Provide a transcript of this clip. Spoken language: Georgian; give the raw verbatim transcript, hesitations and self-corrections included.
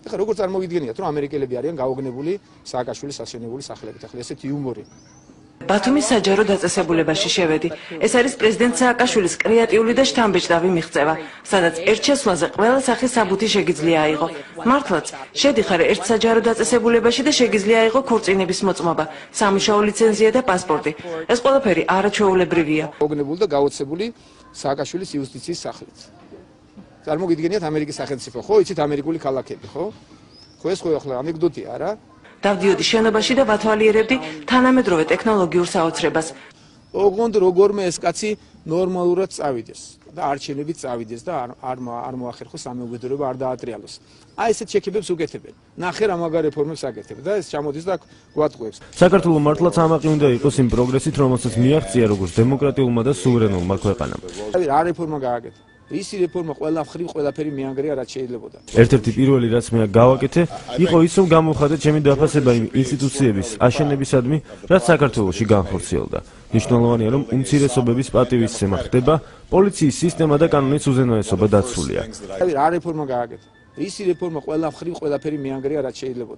ეხლა როგორ წარმოგიდგენიათ, რომ ამერიკელები არიან გაოგნებული სააკაშვილის ასვენებული სახელებით, ახლა ესეთი იუმორი. ბათუმის საჯარო დაწესებულებაში შევედი. ეს არის პრეზიდენტ სააკაშვილის კრეატიული და შთამბეჭდავი მიღწევა, სადაც ერთ შესვლაზე ყველა სახის საბუთი შეგიძლია აიღო. მართლაც, შედიხარ ერთ საჯარო დაწესებულებაში და შეგიძლია აიღო ქორწინების მოწმობა, სამუშაო ლიცენზია და პასპორტი. ეს ყველაფერი არაჩვეულებრივია. გაოგნებული და გაოცებული სააკაშვილის იუსტიციის სახელით. წარმოგიდგენიათ ამერიკის სახელმწიფო, ხო, იცით ამერიკული ქალაქები, ხო? ხო ეს ხო ახლა ანეკდოტია, არა? დავდიოდი შენობაში და ვათვალიერებდი თანამედროვე ტექნოლოგიურ საოცრებას. ოღონდ როგორმე ეს კაცი ნორმალურად წავიდეს და არჩევნებით წავიდეს და არ არ მოახერხოს სამეუბედურება, არ დაატრიალოს. აი ესეთ შექებებს უკეთებენ. ნახე რა მაგარ რეფორმებს აკეთებ და ეს ჩამოდის და გვატყუებს. საქართველოს მართლაც ამაყი უნდა იყოს იმ პროგრესით, რომელსაც მიაღწია როგორც დემოკრატიულმა და სუვერენულმა ქვეყანამ. რა რეფორმა გააკეთა? ისი რეფორმა ყველა მხრივ ყველაფერი მიანგრია, რაც შეიძლებოდა. ერთ-ერთი პირველი რაც მე გავაკეთე, იყო ის, რომ გამოვხატე ჩემი დაფასება იმ ინსტიტუციების აშენებისადმი, რაც საქართველოში განხორციელდა. მნიშვნელოვანია, რომ უმცირესობების პატივისცემა ხდება, პოლიციის სისტემა და კანონის უზენაესობა დაცულია. რა რეფორმა გააკეთა? ისი რეფორმა ყველა მხრივ ყველაფერი მიანგრია, რაც შეიძლებოდა.